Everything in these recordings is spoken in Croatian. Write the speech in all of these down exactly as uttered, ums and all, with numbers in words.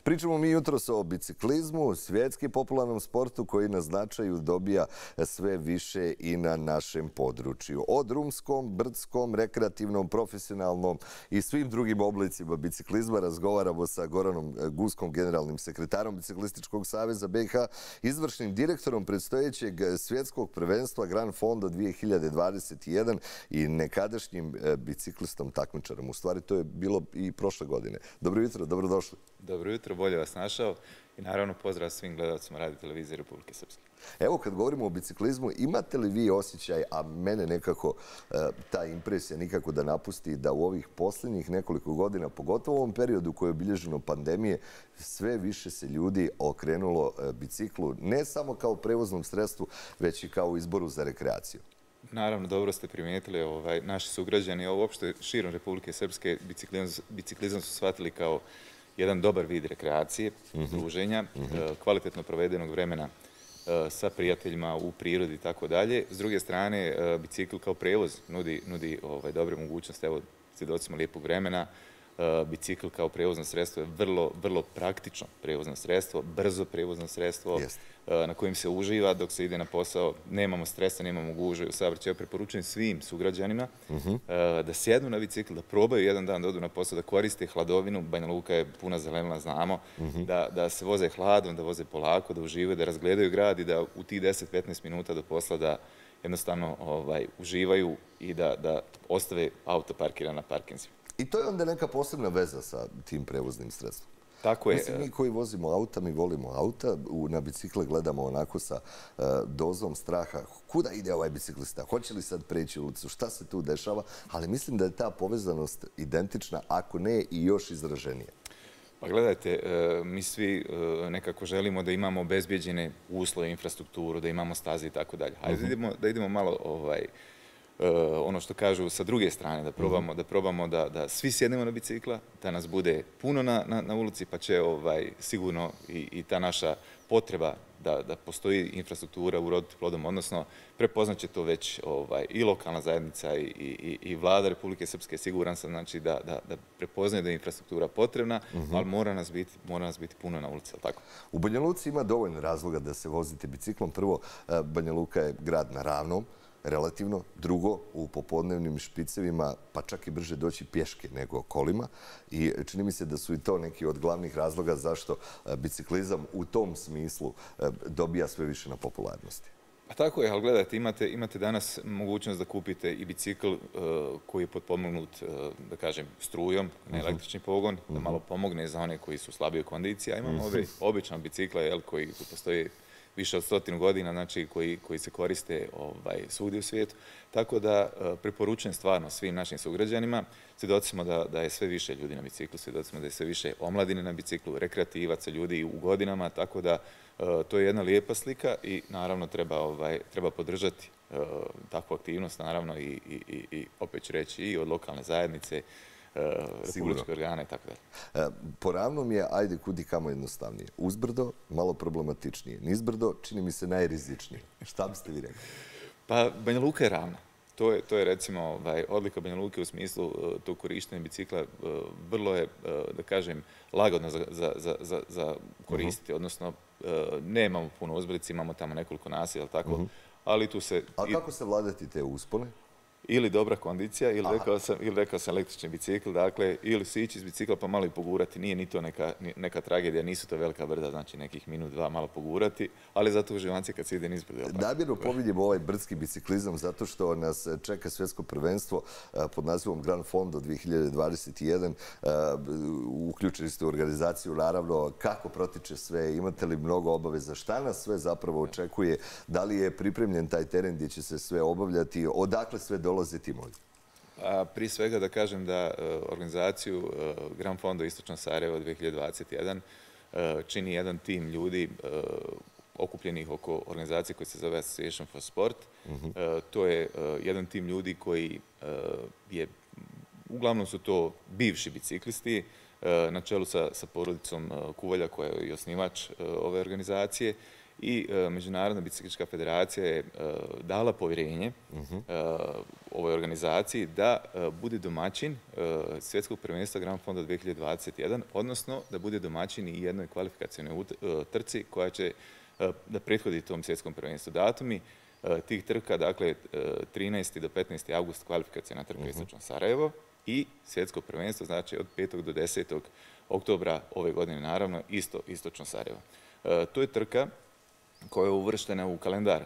Pričamo mi jutros o biciklizmu, svjetski popularnom sportu koji na značaju dobija sve više i na našem području. O drumskom, brdskom, rekreativnom, profesionalnom i svim drugim oblicima biciklizma razgovaramo sa Goranom Guskom, generalnim sekretarom Biciklističkog saveza B i H, izvršnim direktorom predstojećeg svjetskog prvenstva Grand Fondo dvije hiljade dvadeset jedan i nekadašnjim biciklistom takmičarom. U stvari to je bilo i prošle godine. Dobro jutro, dobrodošli. Dobro jutro, bolje vas našao i naravno pozdrav svim gledalcima Radio televizije Republike Srpske. Evo kad govorimo o biciklizmu, imate li vi osjećaj, a mene nekako e, ta impresija nikako da napusti, da u ovih posljednjih nekoliko godina, pogotovo u ovom periodu koji je obilježeno pandemije, sve više se ljudi okrenulo e, biciklu, ne samo kao prevoznom sredstvu, već i kao izboru za rekreaciju? Naravno, dobro ste primijetili, ovaj, naši sugrađani, a uopšte širom Republike Srpske biciklizam, biciklizam su shvatili kao jedan dobar vid rekreacije, druženja, kvalitetno provedenog vremena sa prijateljima u prirodi i tako dalje. S druge strane, bicikl kao prevoz nudi, nudi ovaj, dobre mogućnosti. Evo, svjedocimo lijepog vremena. Bicikl kao prevozno sredstvo je vrlo, vrlo praktično prevozno sredstvo, brzo prevozno sredstvo Jest. na kojim se uživa dok se ide na posao. Nemamo stresa, nemamo gužve u saobraćaju. Preporučujem svim sugrađanima uh-huh. da sjednu na bicikl, da probaju jedan dan da odu na posao, da koriste hladovinu. Banja Luka je puna zelenila, znamo. Uh-huh. da, da se voze hladom, da voze polako, da uživaju, da razgledaju grad i da u tih deset do petnaest minuta do posla da jednostavno ovaj, uživaju i da, da ostave auto parkiran na parkinzima. I to je onda neka posebna veza sa tim prevoznim sredstvom. Tako je. Mislim, mi koji vozimo auta, mi volimo auta, na bicikle gledamo onako sa uh, dozom straha. Kuda ide ovaj biciklista? Hoće li sad preći ulicu? Šta se tu dešava? Ali mislim da je ta povezanost identična, ako ne i još izraženija. Pa gledajte, mi svi nekako želimo da imamo obezbijeđene uslove, infrastrukturu, da imamo staze i tako dalje. Hajde da idemo, da idemo malo ovaj, ono što kažu sa druge strane, da probamo da, probamo da, da svi sjednemo na bicikla, da nas bude puno na, na, na ulici, pa će ovaj, sigurno i, i ta naša potreba da, da postoji infrastruktura u rodu plodom, odnosno prepoznaće to već ovaj, i lokalna zajednica i, i, i vlada Republike Srpske, siguran sam znači, da, da, da prepoznaje da je infrastruktura potrebna, uh-huh. ali mora nas, biti, mora nas biti puno na ulici, tako? U Banja Luci ima dovoljno razloga da se vozite biciklom. Prvo, Banja Luka je grad na ravnom, relativno. Drugo, u popodnevnim špicevima pa čak i brže doći pješke nego kolima i čini mi se da su i to neki od glavnih razloga zašto biciklizam u tom smislu dobija sve više na popularnosti. Pa tako je, ali gledajte, imate, imate danas mogućnost da kupite i bicikl uh, koji je potpomognut, uh, da kažem, strujom, na električni pogon, uh-huh. da malo pomogne za one koji su slabije kondicije, a imamo uh-huh. ove obične bicikle jel, koji postoje više od stotinu godina, znači koji, koji se koriste ovaj, svugdje u svijetu. Tako da uh, preporučujem stvarno svim našim sugrađanima. Svjedoci smo da, da je sve više ljudi na biciklu, svjedoci smo da je sve više omladine na biciklu, rekreativaca, ljudi u godinama, tako da uh, to je jedna lijepa slika i naravno treba, ovaj, treba podržati uh, takvu aktivnost, naravno i, i, i, i opet ću reći i od lokalne zajednice, republičke organe i tako dalje. Po ravnom je, ajde, kudi kamo jednostavnije. Uzbrdo, malo problematičnije. Nizbrdo, čini mi se najrizičnije. Šta biste vi rekli? Pa, Banja Luka je ravna. To je, to je recimo ovaj, odlika Banja Luke u smislu uh, tog korištenja bicikla. Uh, vrlo je, uh, da kažem, lagodno za, za, za, za koristiti. Uh-huh. Odnosno, uh, nemamo puno uzbrdice, imamo tamo nekoliko naselja, tako? Uh-huh. Ali tu se... A kako se vladati te uspone? Ili dobra kondicija, ili rekao, sam, ili rekao sam električni bicikl, dakle, ili sići iz bicikla pa malo i pogurati. Nije ni to neka, neka tragedija, nisu to velika brda, znači nekih minut, dva malo pogurati, ali zato uživanci kad se ide nizbrdo. Namjerno pominjemo ovaj brdski biciklizam zato što nas čeka svjetsko prvenstvo pod nazivom Grand Fondo dvije hiljade dvadeset jedan. Uključili ste u organizaciju, naravno, kako protiče sve, imate li mnogo obaveza, šta nas sve zapravo očekuje, da li je pripremljen taj teren gdje će se sve obavljati, odakle sve dolaze timovi? Prije svega da kažem da organizaciju Grand Fondo Istočno Sarajevo dvije hiljade dvadeset jedan čini jedan tim ljudi okupljenih oko organizacije koja se zove Association for Sport. Uh-huh. To je jedan tim ljudi koji je, uglavnom su to bivši biciklisti, na čelu sa, sa porodicom Kuvalja koja je i osnivač ove organizacije. i Međunarodna biciklistička federacija je dala povjerenje ovoj organizaciji da bude domaćin svjetskog prvenstva Grand Fonda dvije hiljade dvadeset jedan, odnosno da bude domaćin i jednoj kvalifikacionoj trci koja će da prethodi tom svjetskom prvenstvu. Datumi tih trka, dakle, trinaesti do petnaesti august kvalifikacijna trka Istočno Sarajevo i svjetsko prvenstvo, znači od petog do desetog oktobra ove godine, naravno, isto Istočno Sarajevo. To je trka koja je uvrštena u kalendar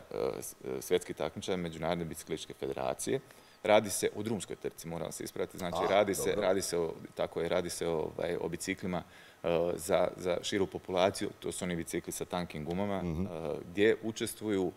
svjetskih takmičara Međunarodne biciklističke federacije. Radi se o drumskoj trci, moram se ispraviti. Znači, A, radi, se, radi se o, tako je, radi se o, ovaj, o biciklima uh, za, za širu populaciju. To su oni bicikli sa tankim gumama, mm-hmm. uh, gdje učestvuju uh,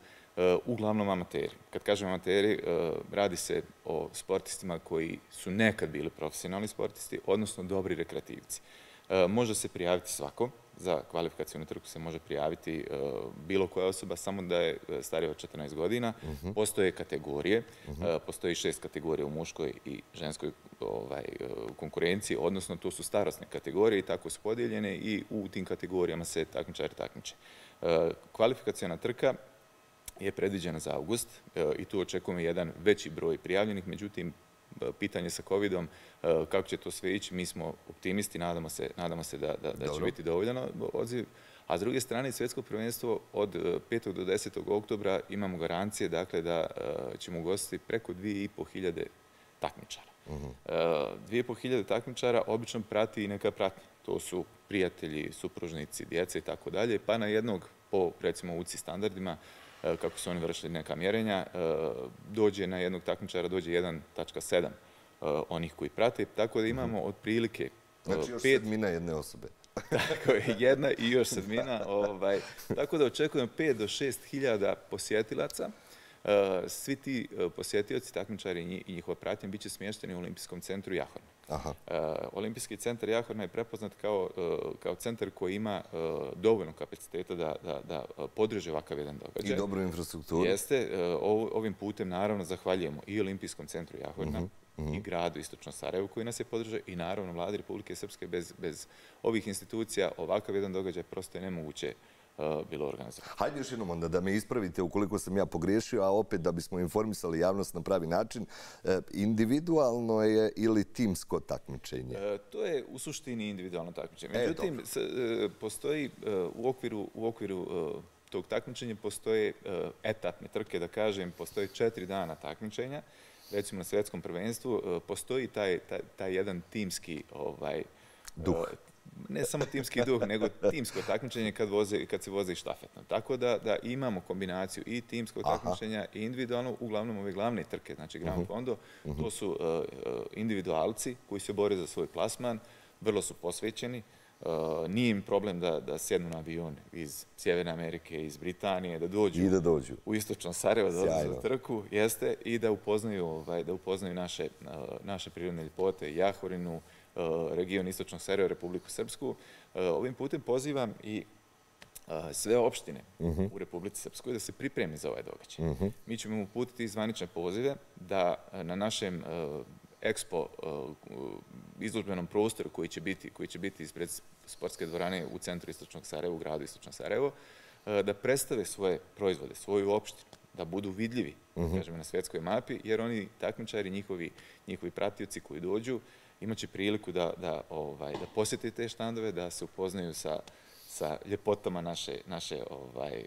uglavnom amateri. Kad kažem amateri, uh, radi se o sportistima koji su nekad bili profesionalni sportisti, odnosno dobri rekreativci. Uh, može se prijaviti svako. Za kvalifikacijnu trku se može prijaviti uh, bilo koja osoba, samo da je starija od četrnaest godina. Uh-huh. Postoje kategorije, uh-huh. uh, postoji šest kategorija u muškoj i ženskoj ovaj, uh, konkurenciji, odnosno to su starosne kategorije i tako su podijeljene i u tim kategorijama se takmičari takmiče. Uh, kvalifikacijna trka je predviđena za august uh, i tu očekujemo jedan veći broj prijavljenih, međutim, pitanje sa covidom, kako će to sve ići, mi smo optimisti, nadamo se, nadamo se da, da, da će biti dovoljan odziv. A s druge strane, svjetsko prvenstvo od petog do desetog oktobra imamo garancije, dakle, da ćemo ugostiti preko dvije i po hiljade takmičara. Uh-huh. Dvije i po hiljade takmičara obično prati i neka pratnja. To su prijatelji, supružnici, djece i tako dalje, pa na jednog, po recimo U C I standardima, kako su oni vršili neka mjerenja, dođe na jednog takmičara, dođe jedan zarez sedam onih koji prate, tako da imamo otprilike Znači još pet... sedmina jedne osobe. Tako je, jedna i još sedmina. Ovaj, tako da očekujemo pet do šest hiljada posjetilaca. Svi ti posjetioci, takmičari i njihova pratnja bit će smješteni u Olimpijskom centru Jahorna. Aha. Olimpijski centar Jahorna je prepoznat kao, kao centar koji ima dovoljno kapaciteta da, da, da podrži ovakav jedan događaj. I dobru infrastrukturu. Jeste. Ovim putem naravno zahvaljujemo i Olimpijskom centru Jahorna, uh-huh. Uh-huh. i gradu Istočno Sarajevo koji nas je podržao i naravno Vladi Republike Srpske. Bez, bez ovih institucija ovakav jedan događaj prosto je nemoguće bilo organizovano. Hajde još jednom onda da me ispravite ukoliko sam ja pogriješio, a opet da bismo informisali javnost na pravi način. Individualno je ili timsko takmičenje? E, to je u suštini individualno takmičenje. Međutim, e, postoji u okviru, u okviru tog takmičenja postoje etapne trke, da kažem, postoje četiri dana takmičenja. Recimo na svjetskom prvenstvu postoji taj, taj, taj jedan timski ovaj, duh. Ne samo timski duh, nego timsko takmičenje kad, voze, kad se voze i štafetno. Tako da, da imamo kombinaciju i timskog takmičenja i individualno, uglavnom ove glavne trke, znači Grand Fondo, uh-huh. to su uh, individualci koji se bore za svoj plasman, vrlo su posvećeni. Uh, nije im problem da, da sjednu na avion iz Sjeverne Amerike, iz Britanije, da dođu, I da dođu. u Istočno Sarajevo, da odlaze za trku, jeste, i da upoznaju, ovaj, da upoznaju naše, uh, naše prirodne ljepote, Jahorinu, region Istočnog Sarajeva, Republiku Srpsku. Ovim putem pozivam i sve opštine uh-huh. u Republici Srpskoj da se pripremi za ovaj događaj. Uh-huh. Mi ćemo uputiti zvanične pozive da na našem uh, ekspo uh, izložbenom prostoru koji će biti, koji će biti ispred sportske dvorane u centru Istočnog Sarajeva, u gradu Istočno Sarajevo, uh, da predstave svoje proizvode, svoju opštinu, da budu vidljivi, uh-huh. kažemo, na svjetskoj mapi, jer oni takmičari, njihovi, njihovi pratioci koji dođu, imaće priliku da, da, ovaj, da posjete te štandove, da se upoznaju sa, sa ljepotama naše, naše, ovaj,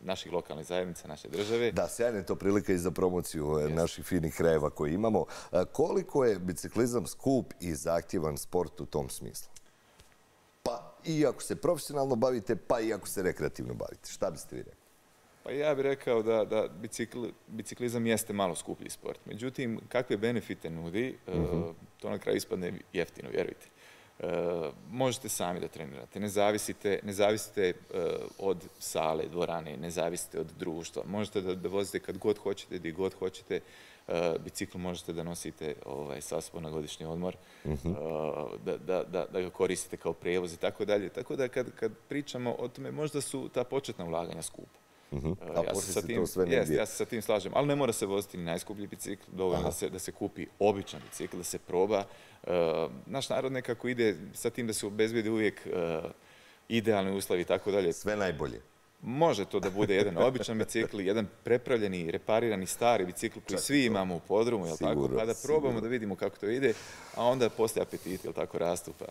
naših lokalnih zajednica, naše države. Da, sjajna je to prilika i za promociju yes. naših finih krajeva koje imamo. Koliko je biciklizam skup i zahtjevan sport u tom smislu? Pa i ako se profesionalno bavite, pa i ako se rekreativno bavite. Šta biste vi rekli? Pa ja bih rekao da, da bicikl, biciklizam jeste malo skuplji sport. Međutim, kakve benefite nudi, uh-huh. to na kraju ispadne jeftino, vjerujte. Uh, možete sami da trenirate, ne zavisite, ne zavisite uh, od sale, dvorane, ne zavisite od društva. Možete da, da vozite kad god hoćete, gdje god hoćete. Uh, bicikl možete da nosite ovaj, sa sobom na godišnji odmor, uh-huh. uh, da, da, da, da ga koristite kao prevoz i tako dalje. Tako da kad, kad pričamo o tome, možda su ta početna ulaganja skupa. Uh-huh. A ja, se tim, jest, ja se sa tim slažem, ali ne mora se voziti ni najskuplji bicikl, dovoljno da se, da se kupi običan bicikl, da se proba. Uh, naš narod nekako ide sa tim da se obezbedi uvijek uh, idealni uslovi i tako dalje. Sve najbolje. Može to da bude jedan običan bicikl, jedan prepravljeni, reparirani, stari bicikl koji svi imamo u podrumu, jel tako? Pa da probamo da vidimo kako to ide, a onda poslije apetiti, jel tako, rastu. Pa